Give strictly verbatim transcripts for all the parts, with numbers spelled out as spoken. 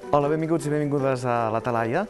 Hola, benvinguts i benvingudes a la Talaia.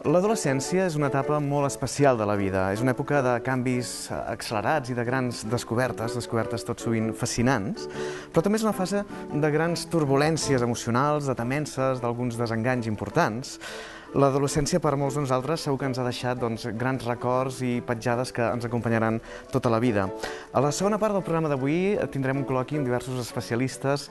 L'adolescència és una etapa molt especial de la vida. És una època de canvis accelerats i de grans descobertes, descobertes tot sovint fascinants, però també és una fase de grans turbulències emocionals, de temences, d'alguns desenganys importants. L'adolescència per molts de nosaltres segur que ens ha deixat doncs, grans records i petjades que ens acompanyaran tota la vida. A la segona part del programa d'avui tindrem un col·loqui amb diversos especialistes,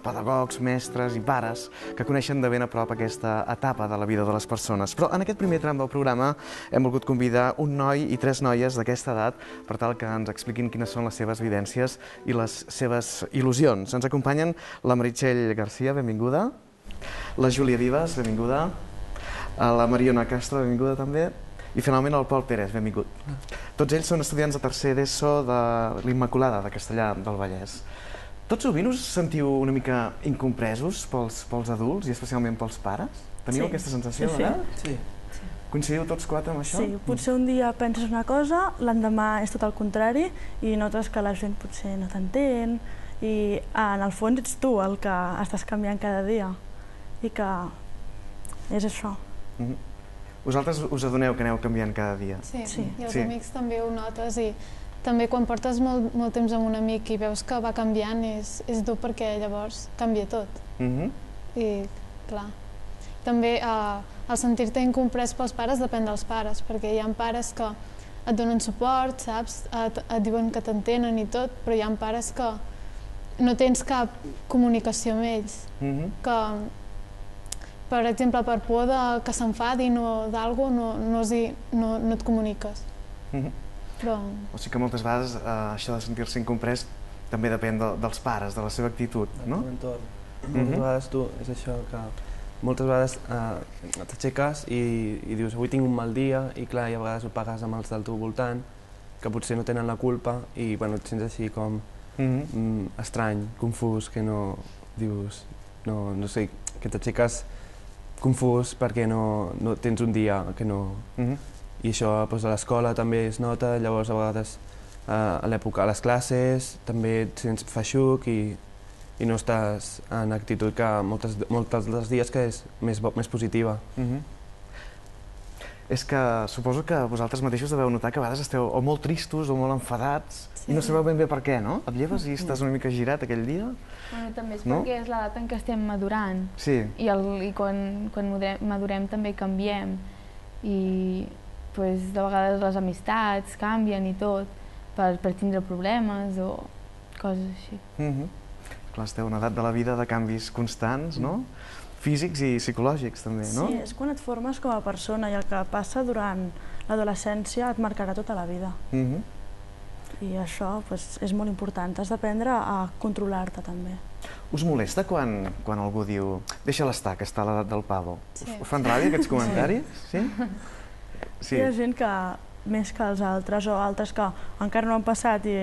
pedagogs, mestres i pares que coneixen de ben a prop aquesta etapa de la vida de les persones. Però en aquest primer tram del programa hem volgut convidar un noi i tres noies d'aquesta edat per tal que ens expliquin quines són les seves vivències i les seves il·lusions. Ens acompanyen la Meritxell Garcia, benvinguda, la Júlia Vives, benvinguda, la Mariona Castro, benvinguda també, i finalment el Pol Pérez, benvingut. Tots ells són estudiants de tercer d'ESO de l'Immaculada de Castellar del Vallès. Tots sovint us sentiu una mica incompresos pels, pels adults i especialment pels pares? Teniu sí. aquesta sensació, sí, verdad? Sí. sí. Coincidiu tots quatre amb això? Sí, potser un dia penses una cosa, l'endemà és tot el contrari i notes que la gent potser no t'entén i en el fons ets tu el que estàs canviant cada dia i que és això. Mm-hmm. Vosaltres us adoneu que aneu canviant cada dia? Sí, sí. i els sí. amics també ho notes i també quan portes molt, molt temps amb un amic i veus que va canviant és, és dur perquè llavors canvia tot. Mm-hmm. I clar, també eh, el sentir-te incomprès pels pares depèn dels pares, perquè hi ha pares que et donen suport, saps? Et, et diuen que t'entenen i tot, però hi ha pares que no tens cap comunicació amb ells, Mm-hmm. que per exemple, per por de que s'enfadin o d'algú no, no, no, no et comuniques. Mm-hmm. Però... O sigui que moltes vegades eh, això de sentir-se incomprès també depèn de, dels pares, de la seva actitud, no? De l'entorn. Mm-hmm. Moltes vegades tu, és això que moltes vegades eh, t'aixeques i, i dius avui tinc un mal dia i clar, i a vegades ho pagues amb els del teu voltant que potser no tenen la culpa i bueno, et sents així com mm-hmm. mm, estrany, confús, que no dius, no, no sé, que t'aixeques confús perquè no, no tens un dia que no... Mm-hmm. I això doncs, a l'escola també es nota, llavors a vegades eh, a l'època a les classes també et sents feixuc i, i no estàs en actitud que moltes, moltes dels dies que és més, més positiva. Mm-hmm. És que suposo que vosaltres mateixos deveu notar que a vegades esteu o molt tristos o molt enfadats sí. i no sabeu ben bé per què, no? Et lleves i estàs una mica girat aquell dia? Bueno, també és no? perquè és l'edat en què estem madurant sí. i, el, i quan, quan madurem, madurem també canviem i pues, de vegades les amistats canvien i tot per, per tindre problemes o coses així. Mm-hmm. Clar, esteu en una edat de la vida de canvis constants, no? Físics i psicològics també, no? Sí, és quan et formes com a persona i el que passa durant l'adolescència et marcarà tota la vida. Mm-hmm. I això pues, és molt important, has d'aprendre a controlar-te també. Us molesta quan, quan algú diu deixa-la estar, que està a l'edat del pavo? Sí. Us fan ràbia aquests comentaris? Sí? Sí. Hi ha gent que més que els altres o altres que encara no han passat i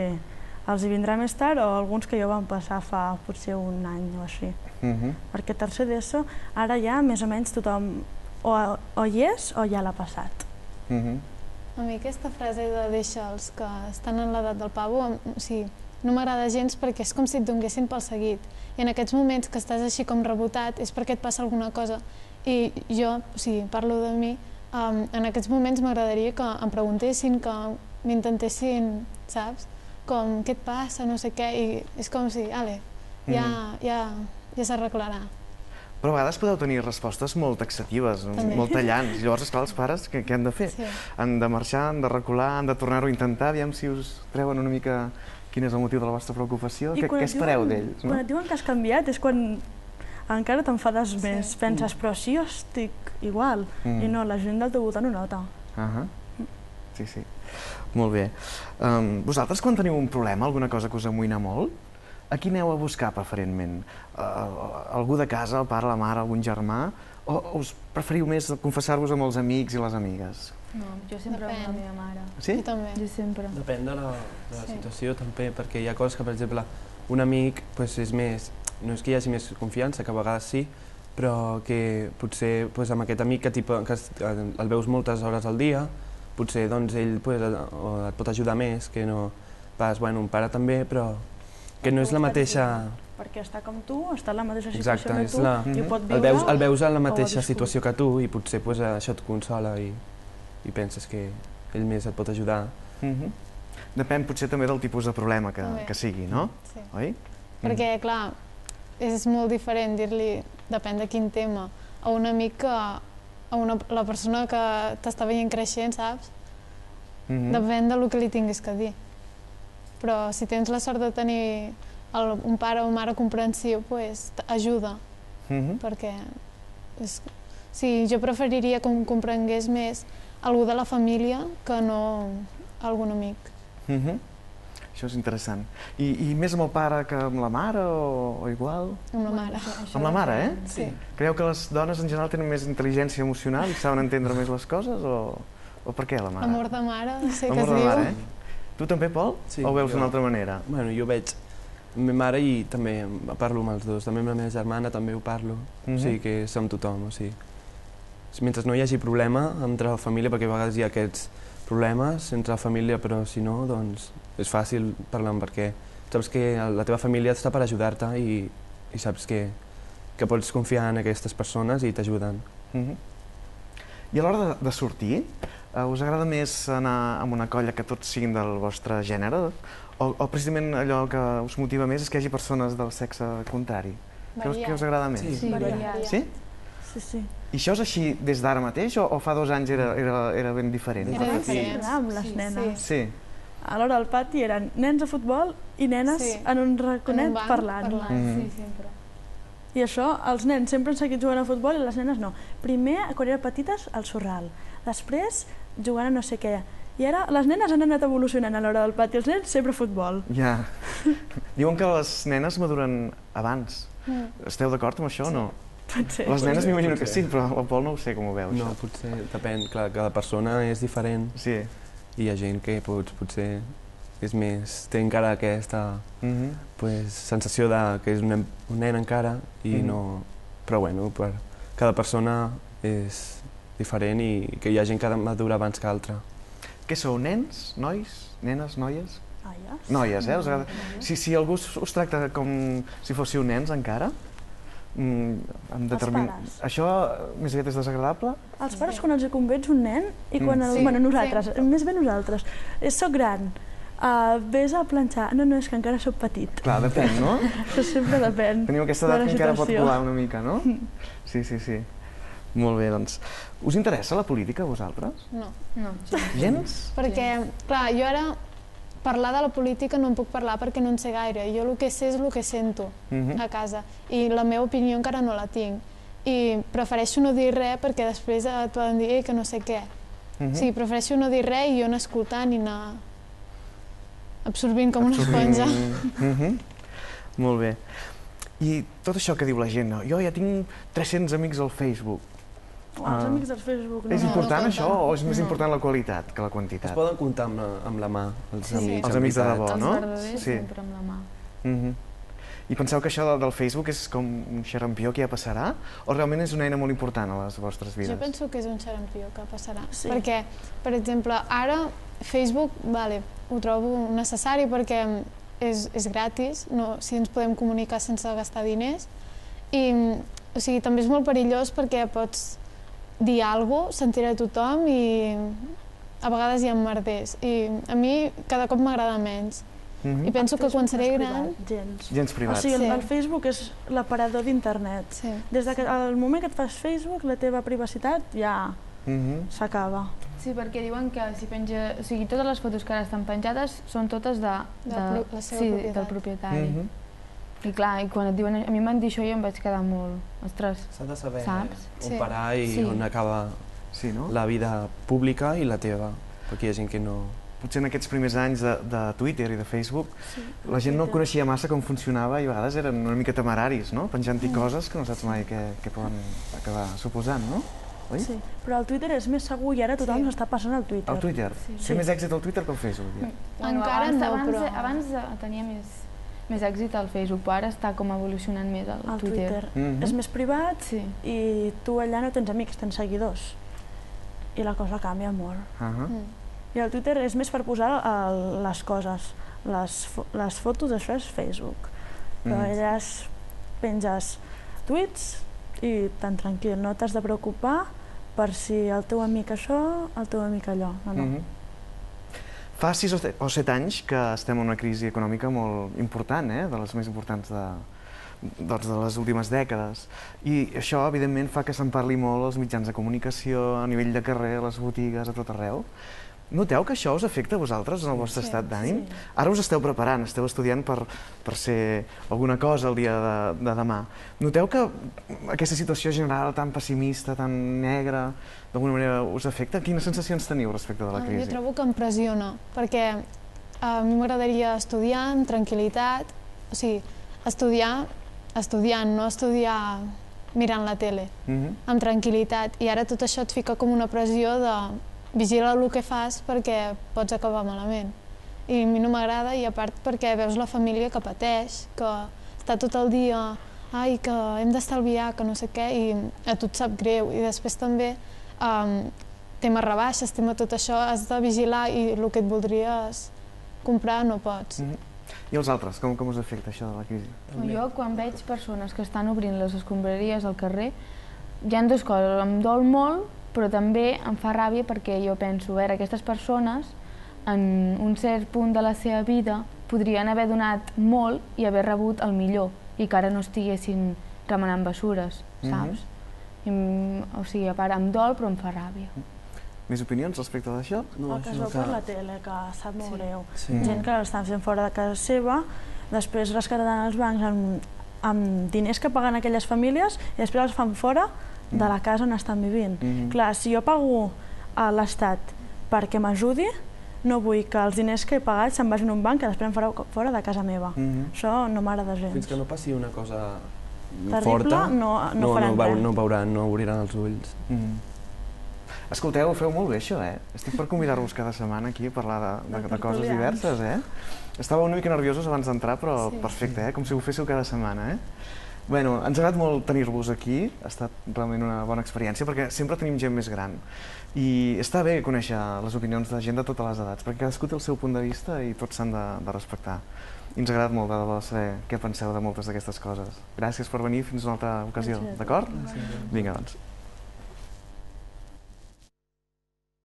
els hi vindrà més tard o alguns que ja van passar fa potser un any o així. Mm-hmm. Perquè tercer d'ESO ara ja més o menys tothom o, o hi és o ja l'ha passat. Mm-hmm. A mi aquesta frase de deixa'ls que estan en l'edat del pavo, o sigui, no m'agrada gens perquè és com si et donguessin pel seguit. I en aquests moments que estàs així com rebotat és perquè et passa alguna cosa. I jo, o sigui, parlo de mi, um, en aquests moments m'agradaria que em preguntessin, que m'intentessin, saps? Com, què et passa, no sé què, i és com si, ale, ja, ja, ja s'arreglarà. Però a vegades podeu tenir respostes molt taxatives, també. Molt tallants. Llavors, esclar, els pares què, què han de fer? Sí. Han de marxar, han de recular, han de tornar-ho a intentar, aviam si us treuen una mica quin és el motiu de la vostra preocupació. Què, què espereu d'ells? No? Quan et diuen que has canviat és quan encara t'enfades sí. més. Penses, mm. però sí, jo estic igual. Mm. I no, la gent del teu voltant ho nota. Uh -huh. Sí, sí. Molt bé. Um, vosaltres, quan teniu un problema, alguna cosa que us amoïna molt, a qui aneu a buscar preferentment? Uh, algú de casa, el pare, la mare, algun germà? O, o us preferiu més confessar-vos amb els amics i les amigues? No, jo sempre Depèn. amb la meva mare. Sí? Jo també. Jo sempre. Depèn de la, de la Sí. situació també, perquè hi ha coses que, per exemple, un amic pues, és més, no és que hi hagi més confiança, que a vegades sí, però que potser pues, amb aquest amic que, tipus, que el veus moltes hores al dia, potser doncs, ell pues, et pot ajudar més, que no pas, bueno, un pare també, però que no és la mateixa perquè està com tu, està en la mateixa Exacte, situació que és tu la- i ho pot el viure. veus, el veus en la o ho ha mateixa viscut. situació que tu i potser pues, això et consola i, i penses que ell més et pot ajudar. Mhm. Depèn potser també del tipus de problema que, També. que sigui, no? Sí. Oi? Perquè, clar, és molt diferent dir-li, depèn de quin tema, a un amic que a una, la persona que t'està veient creixent, saps? Mhm. Depèn del que li tinguis que dir. Però si tens la sort de tenir el, un pare o mare comprensiu, pues, ajuda, Mhm. perquè és, sí, jo preferiria que em comprengués més algú de la família que no algun amic. Mhm. Això és interessant. I, I més amb el pare que amb la mare o, o igual? Amb la mare. Amb la mare, eh? Sí. Creieu que les dones en general tenen més intel·ligència emocional i saben entendre més les coses o, o per què la mare? Amor de mare, no sé què Amor es de diu. mare, eh? Tu també, Pol? Sí, o ho veus jo- d'una altra manera? Bueno, jo veig la meva mare i també parlo amb els dos, també amb la meva germana també ho parlo, Mhm. o sigui que és amb tothom, o sigui. Mentre no hi hagi problema entre la família, perquè a vegades hi ha aquests problemes entre la família, però si no, doncs és fàcil parlar perquè saps que la teva família està per ajudar-te i, i saps que, que pots confiar en aquestes persones i t'ajuden. Mhm. I a l'hora de, de sortir, eh, us agrada més anar amb una colla que tots siguin del vostre gènere? O, o precisament allò que us motiva més és que hi hagi persones del sexe contrari? Què us, què us agrada més? Sí. Sí, Variat. variat. Sí? Sí, sí. I això és així des d'ara mateix o, o fa dos anys era, era, era ben diferent? Era diferent. Anar amb les Sí, nenes. Sí. A l'hora del pati eren nens a futbol i nenes Sí. en un raconet En un banc parlant. parlant. Mhm. Sí, sempre. I això, els nens sempre han seguit jugant a futbol i les nenes no. Primer, quan eren petites, al sorral. Després, jugant a no sé què. I ara les nenes han anat evolucionant a l'hora del pati, els nens sempre a futbol. Ja. Diuen que les nenes maduren abans. Mm. Esteu d'acord amb això o no? Pot ser. Les nenes m'imagino que sí, Potser. però el Pol no ho sé com ho veu, No, això. potser depèn, clar, cada persona és diferent Sí. i hi ha gent que pots, potser és més, té encara aquesta Mhm. pues, sensació de que és un nen, un nen encara i Mhm. no... Però bueno, per, cada persona és diferent i que hi ha gent que madura abans que altra. Què sou, nens, nois, nenes, noies? Noies. Noies, eh? Us agrada? Si, si algú us, us tracta com si fóssiu nens encara, mm, amb determin... pares. Això eh, més aviat és desagradable? Els pares quan els hi convens un nen i quan Mm. el, Sí, bueno, nosaltres, sempre. més bé nosaltres, és soc gran, uh, vés a planxar, no, no, és que encara sóc petit. Clar, depèn, no? Això sempre depèn. Teniu aquesta de edat la que encara pot situació. colar una mica, no? Sí, sí, sí. Molt bé, doncs. Us interessa la política, a vosaltres? No. No, Gens? Perquè, clar, jo ara parlar de la política no en puc parlar perquè no en sé gaire. Jo el que sé és el que sento Mhm. a casa i la meva opinió encara no la tinc. I prefereixo no dir res perquè després et poden dir "Ei, que no sé què. Mhm. O sigui, prefereixo no dir res i jo anar escoltant i anar absorbint com una Absorbint. esponja. Mhm. Molt bé. I tot això que diu la gent, no? Jo ja tinc tres-cents amics al Facebook. Oh, Ah. els amics del Facebook, no. És no, important no això compta. o és més No. important la qualitat que la Es quantitat? poden comptar amb la, amb la mà, els Sí. amics. Els en amics de veritat. debò, els no? verdaders Sí. sempre amb la mà. Mhm. I penseu que això de- del Facebook és com un xarampió que ja passarà? O realment és una eina molt important a les vostres vides? Jo penso que és un xarampió que passarà. Sí. Perquè, per exemple, ara Facebook, vale, ho trobo necessari perquè és, és gratis, no, si ens podem comunicar sense gastar diners. I, o sigui, també és molt perillós perquè pots dir alguna cosa, sentir a tothom i a vegades hi ha merders. I a mi cada cop m'agrada menys. Mhm. I penso que El quan Facebook seré no és gran... privat, gens. Gens O privats. sigui, el, Sí. el Facebook és l'aparador d'internet. Sí. Des de que al moment que et fas Facebook, la teva privacitat ja Mhm. s'acaba. Sí, perquè diuen que si penja... O sigui, totes les fotos que ara estan penjades són totes de... De de pro- la seva sí, propietat. del propietari. Mhm. I clar, i quan et diuen... A mi m'han dit això i em vaig quedar molt... Ostres, S'ha de saber Saps? on Sí. parar i Sí. on acaba Sí, no? la vida pública i la teva, perquè hi ha gent que no... Potser en aquests primers anys de, de Twitter i de Facebook Sí. la gent no coneixia massa com funcionava i a vegades eren una mica temeraris, no? Penjant-hi Mm. coses que no saps mai què, què poden acabar suposant, no? Oi? Sí, però el Twitter és més segur i ara tothom Sí. s'està passant al Twitter. El Twitter. Sí. Té Sí. més èxit el Twitter que el Facebook, ja. Bueno, Encara abans, no, abans, però- abans eh, tenia més, més èxit al Facebook, però ara està com evolucionant més el, El Twitter. Twitter. Mhm. És més privat Sí. i tu allà no tens amics, tens seguidors. I la cosa canvia molt. Ahà. Mm. I el Twitter és més per posar el, les coses. Les, fo les fotos, això és Facebook. però elles penges tuits i tan tranquil, no t'has de preocupar per si el teu amic això, el teu amic allò, no, no. Fa sis o set anys que estem en una crisi econòmica molt important, de les més importants de les últimes dècades. I això, evidentment, fa que se'n parli molt als mitjans de comunicació, a nivell de carrer, a les botigues, a tot arreu. Noteu que això us afecta a vosaltres en el vostre estat d'ànim? Ara us esteu preparant, esteu estudiant per ser alguna cosa el dia de demà. Noteu que aquesta situació general tan pessimista, tan negra, d'alguna manera us afecta? Quines sensacions teniu respecte de la crisi? Jo trobo que em pressiona, perquè a mi m'agradaria estudiar amb tranquil·litat, o sigui, estudiar estudiant, no estudiar mirant la tele, amb tranquil·litat. I ara tot això et fica com una pressió de vigila el que fas perquè pots acabar malament. I a mi no m'agrada, i a part perquè veus la família que pateix, que està tot el dia ai, que hem d'estalviar, que no sé què, i a tu et sap greu. I després també tema rebaixes, tema tot això, has de vigilar i el que et voldries comprar no pots. I els altres, com us afecta això de la crisi? Jo, quan veig persones que estan obrint les escombraries al carrer, hi ha dues coses, em dol molt, però també em fa ràbia perquè jo penso, a veure, aquestes persones en un cert punt de la seva vida podrien haver donat molt i haver rebut el millor i que ara no estiguessin remenant bessures, saps? O sigui, a part em dol però em fa ràbia. Més opinions respecte d'això? El que es veu per la tele, que sap molt greu. Gent que l'estan fent fora de casa seva, després rescataran els bancs amb diners que paguen aquelles famílies i després els fan fora de la casa on estan vivint. Clar, si jo pago a l'Estat perquè m'ajudi, no vull que els diners que he pagat se'n vagin a un banc que després em farà fora de casa meva. Això no m'agrada gens. Fins que no passi una cosa forta, no veuran, no obriran els ulls. Escolteu, ho feu molt bé això, eh? Estic per convidar-vos cada setmana aquí a parlar de coses diverses, eh? Estava una mica nerviosos abans d'entrar, però perfecte, eh? Com si ho féssiu cada setmana, eh? Bueno, ens ha agradat molt tenir-vos aquí, ha estat realment una bona experiència, perquè sempre tenim gent més gran. I està bé conèixer les opinions de gent de totes les edats, perquè cadascú té el seu punt de vista i tots s'han de respectar. I ens ha agradat molt de debò saber què penseu de moltes d'aquestes coses. Gràcies per venir, fins una altra ocasió, d'acord? Vinga, doncs.